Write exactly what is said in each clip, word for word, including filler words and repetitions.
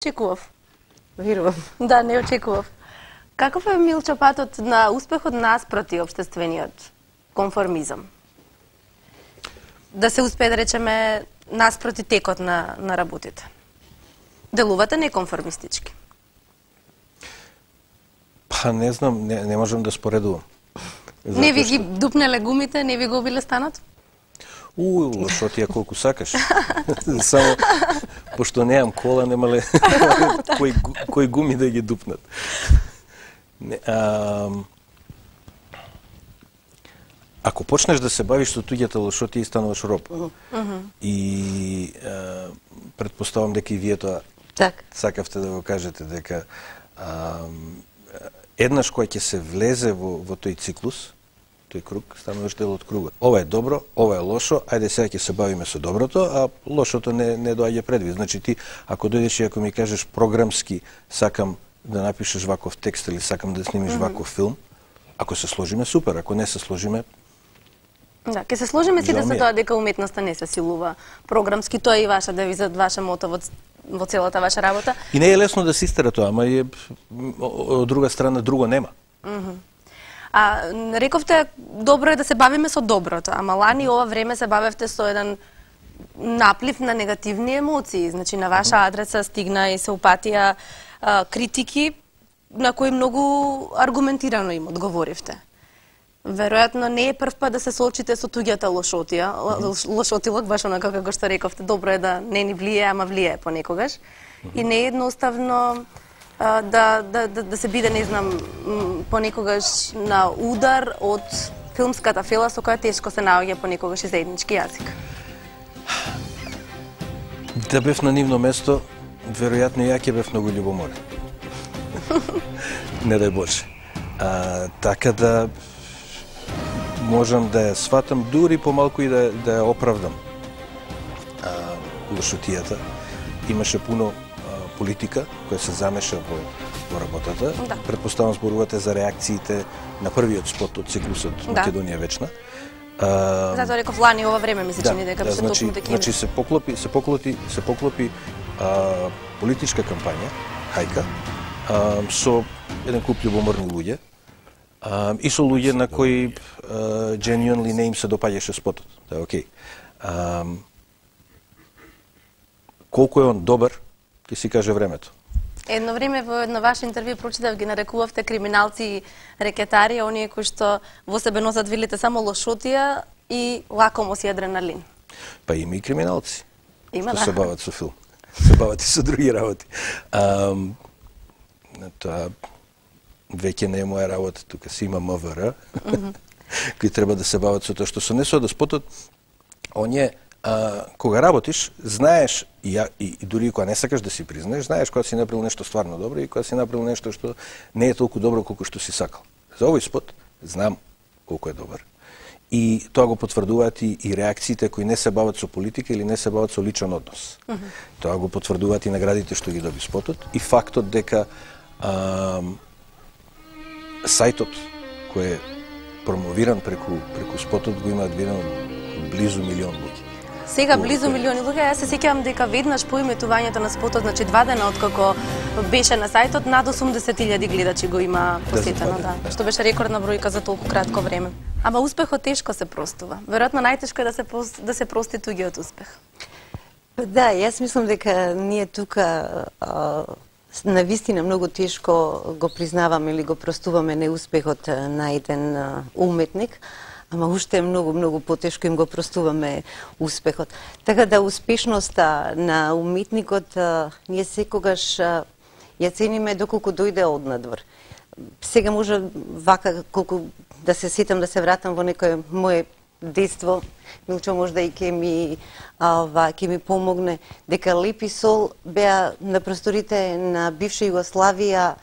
очекував. Верувам. Да, не очекував. Каков е, Милчо, патот на успехот наспроти општествениот конформизам? Да се успее, да речеме, наспроти текот на, на работите. Делувате неконформистички? Па не знам, не, не можам да споредувам. Не ви ги дупнеле гумите, не ви го убиле станот? У, лошотија колку сакаш. Само, пошто неам кола, немале кои, кои гуми да ги дупнат. Не, а, ако почнеш да се бавиш со туѓата лошотија, стануваш роб. Uh -huh. И а, предпоставам дека и вие тоа так. сакавте да го кажете, дека а, еднаш кој ќе се влезе во, во тој циклус, тој круг, стануваш дел од кругот. Ова е добро, ова е лошо, ајде сега ќе се бавиме со доброто, а лошото не, не доаѓа предвид. Значи ти, ако дојдеш и ако ми кажеш програмски, сакам да напишеш ваков текст или сакам да снимиш mm -hmm. ваков филм, ако се сложиме, супер, ако не се сложиме, да, ќе се сложиме сите со тоа дека уметноста не се силува програмски, тоа е и ваша девиза, ваша мото во, во целата ваша работа. И не е лесно да се истера тоа, ама е, од друга страна друго нема. Mm -hmm. А рековте, добро е да се бавиме со доброто, ама лани ова време се бавевте со еден наплив на негативни емоции. Значи, на ваша адреса стигна и се упатија а, критики на кои многу аргументирано им одговоривте. Веројатно не е прв пат да се соочите со туѓата лошотија, лошотилок, баш онака како што рековте, добро е да не ни влие, ама влие понекогаш. И не е едноставно Да, да, да, да се биде, не знам, понекогаш на удар од филмската фела со која тешко се наоѓа понекогаш и заеднички јазик. Да бев на нивно место, веројатно ја ќе бев многу љубоморен. Не дај Боже. А, така да можам да ја сватам, дури помалку и да, да ја оправдам а, лошотијата. Имаше пуно политика која се замеша во, во работата. Да. Предпоставам зборувате за реакциите на првиот спот од циклусот да. Македонија вечна. А, Затоа реков лани ова време ми се чини дека да, беше значи, токму дека значи се поклопи, се поклопи, се поклопи а, политичка кампања, хајка, а, со еден куп љубоморни луѓе а, и со луѓе на кои а, genuinely не им се допаѓаше спотот. Да, окей. А, колку е он добар, ќе си каже времето. Едно време во едно ваше интервју прочитав, ги нарекувавте криминалци и рекетари, оние кои што во себе носат, велите, само лошотија и лакомост и адреналин. Па има и криминалци. Има, што да. се бават со филм. Се бават и со други работи. А, тоа веќе не е моја работа, тука си има М В Р, mm -hmm. кои треба да се бават со тоа што се не со да спотот, оние А, кога работиш, знаеш, и, ја, и, и дури кога не сакаш да си признаеш, знаеш кога си направил нешто стварно добро и кога си направил нешто што не е толку добро колку што си сакал. За овој спот знам колку е добар. И тоа го потврдуваат и, и реакциите кои не се бават со политика или не се бават со личен однос. Mm -hmm. Тоа го потврдуваат и наградите што ги доби спотот и фактот дека а, сајтот кој е промовиран преку, преку спотот го имаат видено близу милион луѓе. Сега близу милиони луѓе, јас се сеќавам дека веднаш по иметувањето на спотот, значи два дена откако беше на сајтот, над осумдесет илјади гледачи го има посетено, да, да. Што беше рекордна бројка за толку кратко време. Ама успехот тешко се простува. Веројатно најтешко е да се да се прости туѓиот успех. Да, јас мислам дека ние тука а, навистина многу тешко го признаваме или го простуваме неуспехот на еден а, уметник. Ама уште е многу, многу потешко им го простуваме успехот. Така да успешноста на уметникот а, ние секогаш а, ја цениме доколку дојде однадвор. Сега може вака колку да се сетам да се вратам во некое мое детство, Милчо можда и ќе ми ова ќе ми помогне дека Леп и Сол беа на просторите на бивша Југославија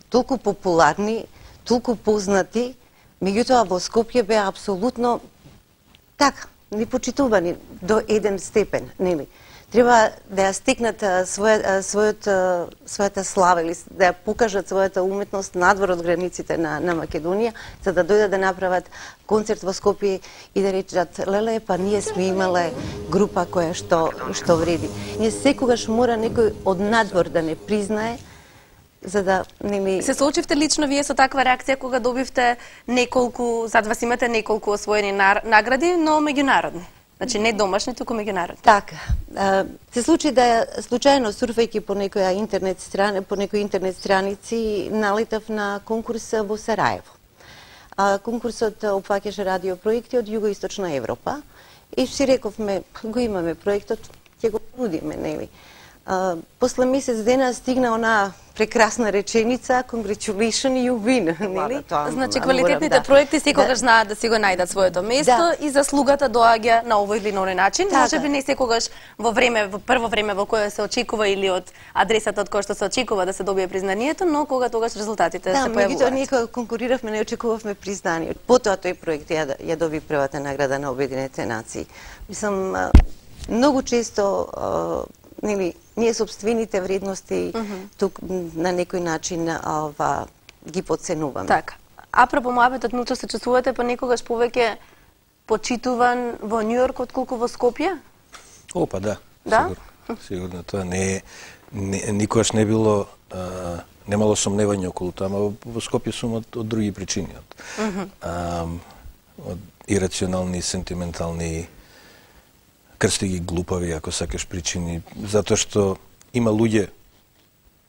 толку популарни, толку познати. Меѓутоа во Скопје беа апсолутно така, непочитувани до еден степен, нели? треба да ја стекнат своја, својот, својата слава или да ја покажат својата уметност надвор од границите на, на Македонија, за да дојдат да направат концерт во Скопје и да речат, леле, па ние сме имале група која што, што вреди. Ние секогаш мора некој од надвор да не признае, за да нели... Се соочивте лично вие со таква реакција кога добивте неколку, зад вас имате неколку освоени награди, но меѓународни? Значи не домашни, туку меѓународни. Така. Се случи да случајно сурфајќи по некоја интернет страна, по некои интернет страници, налетав на конкурс во Сараево. Конкурсот опфаќаше радиопроекти од Југоисточна Европа и си рековме, го имаме проектот, ќе го нудиме, нели? После месец дена стигна она прекрасна реченица, congratulations, you win, нели? Значи квалитетните проекти секогаш знаат да си го најдат своето место и заслугата доаѓа на овој или на оној начин. Можеби не секогаш во време, во прво време во кое се очекува или од адресата од која што се очекува да се добие признанието, но кога тогаш резултатите се појавуваат. Да, меѓутоа ние кога конкуриравме не очекувавме признание. Потоа тој проект ја, ја доби првата награда на Обединетите нации. Мислам, многу често нели, ние собствените вредности mm -hmm. тук на некој начин ова ги подценуваме. Така. Апропо моабетот, Милчо, се чувствувате понекогаш повеќе почитуван во Њујорк отколку во Скопје? О, па да. Да? Сигурно, сигурно тоа не е не, никогаш не било а, немало сомневање околу тоа, ама во Скопје сум од, од други причини, од, mm -hmm. а, од ирационални, сентиментални, крсти ги глупави, ако сакаш, причини, затоа што има луѓе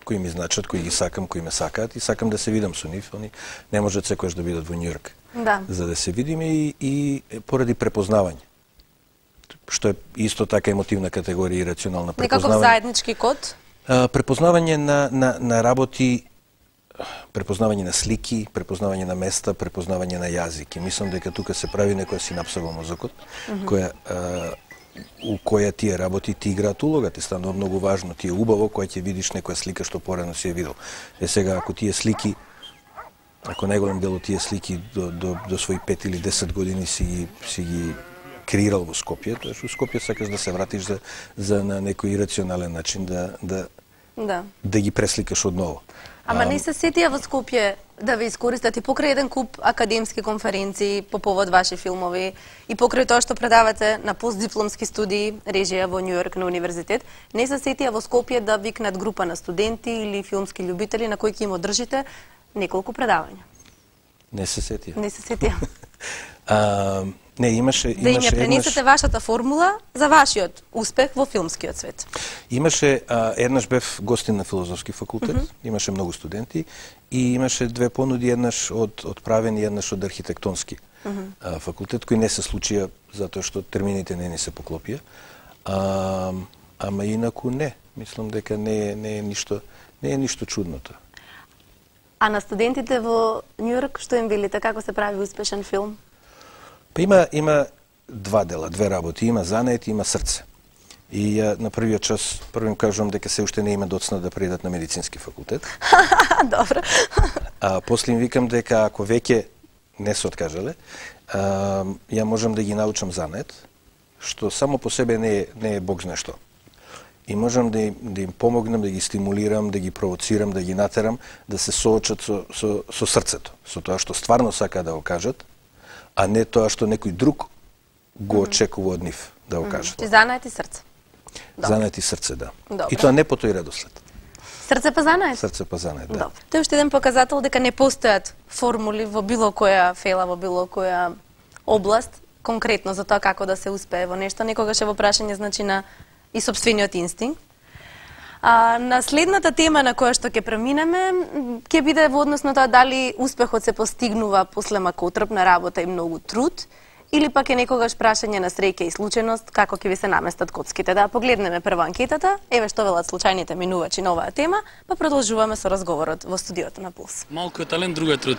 кои ми значат, кои ги сакам, кои ме сакаат и сакам да се видам со нив, они не можат секојаш да бидат во Њујорк. Да. За да се видиме и, и поради препознавање. Што е исто така емотивна категорија и рационална препознавање. Некаков заеднички код? А, препознавање на, на, на работи, препознавање на слики, препознавање на места, препознавање на јазик. И мислам дека тука се прави некоја синапса во мозокот, mm -hmm. која а, у која тие работи ти играат улога, ти станува многу важно, ти е убаво кога ќе видиш некоја слика што порано си ја видел. Е сега, ако тие слики, ако најголем дел од тие слики до, до, до своји пет или десет години си ги, си ги креирал во Скопје, тоа што Скопје сакаш да се вратиш за, за на некој ирационален начин да, да, да. да ги пресликаш одново. Ама не се сетија во Скопје да ви искористат и покрај еден куп академски конференции по повод ваши филмови и покрај тоа што предавате на постдипломски студии режија во Њујорк на универзитет, не се сетија во Скопје да викнат група на студенти или филмски љубители на кои ќе им одржите неколку предавања? Не се сетија. Не се сетија. а, не, имаше, имаше да им ја пренесете еднаш... вашата формула за вашиот успех во филмскиот свет. Имаше, а, еднаш бев гостин на филозофски факултет, mm -hmm. имаше многу студенти и имаше две понуди, еднаш од, од правен и еднаш од архитектонски mm -hmm. а, факултет, кои не се случија затоа што термините не ни се поклопија. А, ама инаку не, мислам дека не е, не е ништо, не е ништо чудно тоа. А на студентите во Њујорк што им велите, како се прави успешен филм? Па има, има два дела, две работи, има занет и има срце. И ја, на првиот час, прво им кажувам дека се уште не има доцна да придат на медицински факултет. Добро. А после им викам дека ако веќе не се откажале, а, ја можам да ги научам занет, што само по себе не е, не е бог знае што. И можам да им, да им помогнам, да ги стимулирам, да ги провоцирам, да ги натерам, да се соочат со, со, со срцето, со тоа што стварно сака да го кажат, а не тоа што некој друг го очекува од нив да го кажат. Ти занет и срце. Занет и срце, да. Добре. И тоа не по тој редослед. Срце па занет? Срце па занет, да. Добре. Тоа е уште еден показател дека не постојат формули во било која фела, во било која област, конкретно за тоа како да се успее во нешто. Некогаш е во прашање, значи, на и собствениот инстинкт. А, на следната тема на која што ќе преминеме, ќе биде во однос на тоа дали успехот се постигнува после макотрпна работа и многу труд, или пак е некогаш прашање на среќа и случајност како ќе ви се наместат коцките. Да погледнеме прво анкетата, еве што велат случајните минувачи на оваа тема, па продолжуваме со разговорот во студиото на Пулс. Малку е талент, друго е труд.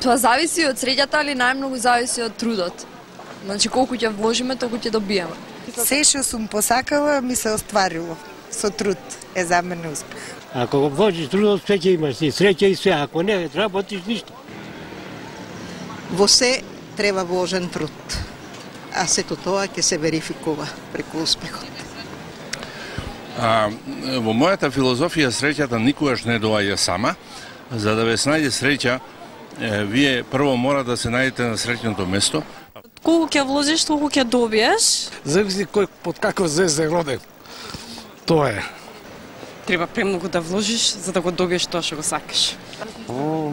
Тоа зависи од среќата, али најмногу зависи од трудот. Значи колку ќе вложиме, толку ќе добиеме. Се што сум посакала ми се остварило. Со труд е за мене успех. Ако го вложиш трудот, све ќе имаш, и среќа и све. Ако не работиш, ништо. Во се треба вложен труд. А сето тоа ќе се верификува преку успехот. А, во мојата филозофија среќата никогаш не доаѓа сама. За да ве најде среќа, е, вие прво мора да се најдете на среќното место. Колку ќе вложиш, толку ќе добиеш. Зависи кој под каква звезда е роден. Тоа е. Треба премногу да вложиш за да го добиеш тоа што го сакаш. О,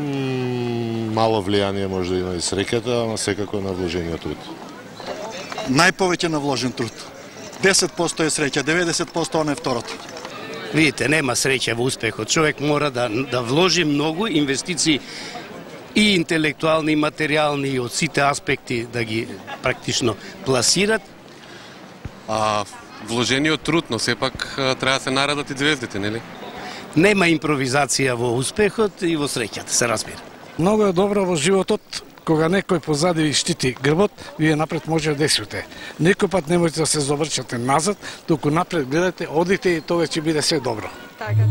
мало влијание може да има и среќата, ама секако на вложениот труд. Најповеќе на вложен труд. десет проценти е среќа, деветдесет проценти она е второто. Видите, нема среќа во успехот. Човек мора да, да вложи многу инвестиции и интелектуални, и материјални, и од сите аспекти да ги практично пласират. А вложениот труд, но сепак треба да се наредат и звездите, нели? Нема импровизација во успехот и во среќата, се разбира. Многу е добро во животот кога некој позади ви штити грбот, вие напред може да действате. Некој пат не можете да се заврчате назад, туку напред гледате, одите и тоа ќе биде се добро. Така.